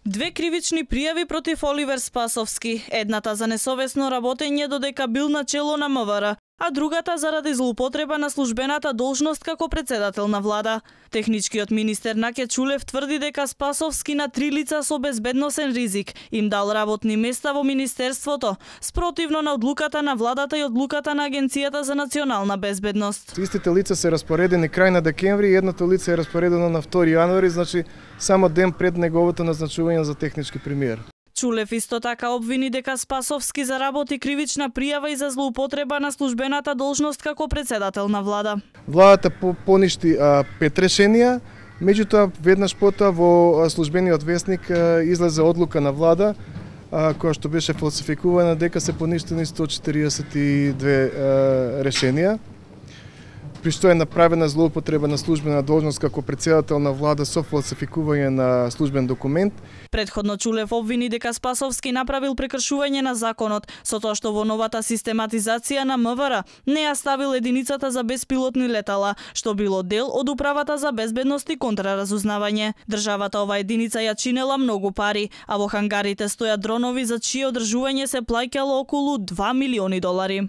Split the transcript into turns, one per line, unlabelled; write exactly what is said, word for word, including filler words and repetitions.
Две кривични пријави против Оливер Спасовски, едната за несовесно работење додека бил на чело на М В Р, а другата заради злоупотреба на службената должност како председател на влада. Техничкиот министер Наке Чулев тврди дека Спасовски на три лица со безбедносен ризик им дал работни места во министерството, спротивно на одлуката на владата и одлуката на Агенцијата за национална безбедност.
Истите лица се распоредени крај на декември и едното лице е распоредено на втори јануари, значи само ден пред неговото назначување за технички премиер.
Чулев исто така обвини дека Спасовски заработи кривична пријава и за злоупотреба на службената должност како председател на влада.
Владата поништи а, пет решенија, меѓутоа веднаш потоа во службениот весник а, излезе одлука на влада а, која што беше фалсификувана дека се поништени сто четириесет и две а, решенија. При што е направена злоупотреба на службена должност како председател на влада со фалсификување на службен документ.
Предходно Чулев обвини дека Спасовски направил прекршување на законот со тоа што во новата систематизација на М В Р не ја ставил единицата за беспилотни летала, што било дел од управата за безбедност и контраразузнавање. Државата ова единица ја чинела многу пари, а во хангарите стојат дронови за чие одржување се плаќало околу два милиони долари.